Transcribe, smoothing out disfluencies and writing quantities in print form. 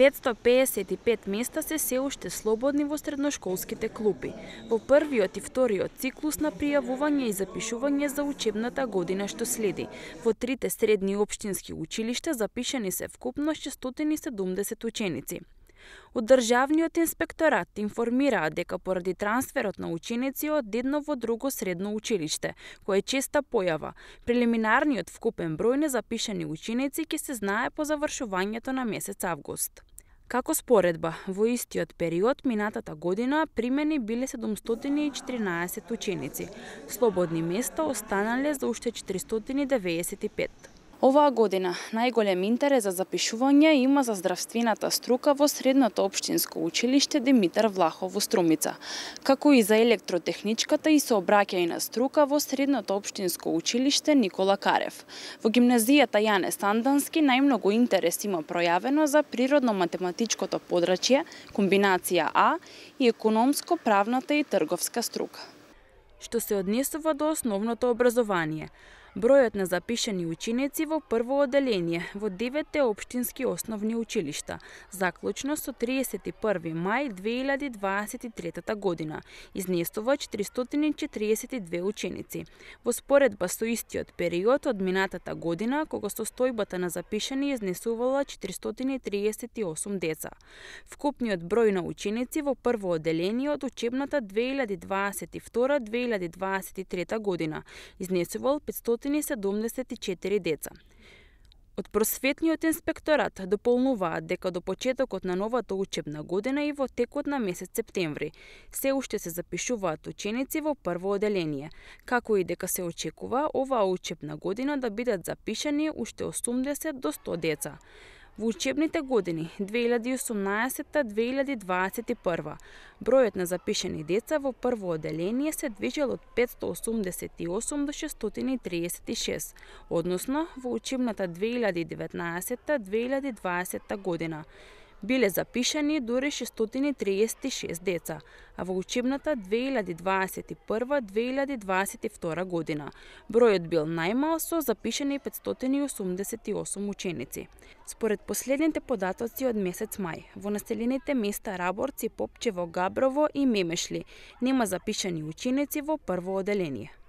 555 места се уште слободни во средношколските клупи. Во првиот и вториот циклус на пријавување и запишување за учебната година што следи. Во трите средни општински училишта запишани се вкупно 670 ученици. Од Државниот инспекторат информираат дека поради трансферот на ученици од едно во друго средно училиште, кој е честа појава, прелиминарниот вкупен број незапишани ученици ќе се знае по завршувањето на месец август. Како споредба, во истиот период минатата година примени биле 714 ученици. Слободни места останале за уште 495. Оваа година најголем интерес за запишување има за здравствената струка во средното општинско училиште Димитар Влахов во Струмица, како и за електротехничката и сообраќајна струка во средното општинско училиште Никола Карев. Во гимназијата Јане Сандански најмногу интерес има пројавено за природно-математичкото подрачје, комбинација А и економско-правната и трговска струка. Што се однесува до основното образование, бројот на запишани ученици во прво оделение во 9 општински основни училишта, заклучно со 31 мај 2023 година, изнесува 442 ученици. Во споредба со истиот период од минатата година, кога состојбата на запишани изнесувала 438 деца. Вкупниот број на ученици во прво оделение од учебната 2022-2023 година изнесувал 574 деца. Од Просветниот инспекторат дополнуваат дека до почетокот на новата учебна година и во текот на месец септември се уште се запишуваат ученици во прво оделение, како и дека се очекува оваа учебна година да бидат запишани уште 80 до 100 деца. Во учебните години 2018-2021 бројот на запишани деца во прво оделение се движел од 588 до 636, односно во учебната 2019-2020 година биле запишани дури 636 деца, а во учебната 2021-2022 година бројот бил најмал со запишани 588 ученици. Според последните податоци од месец мај, во населените места Раборци, Попчево, Габрово и Мемешли нема запишани ученици во прво оделение.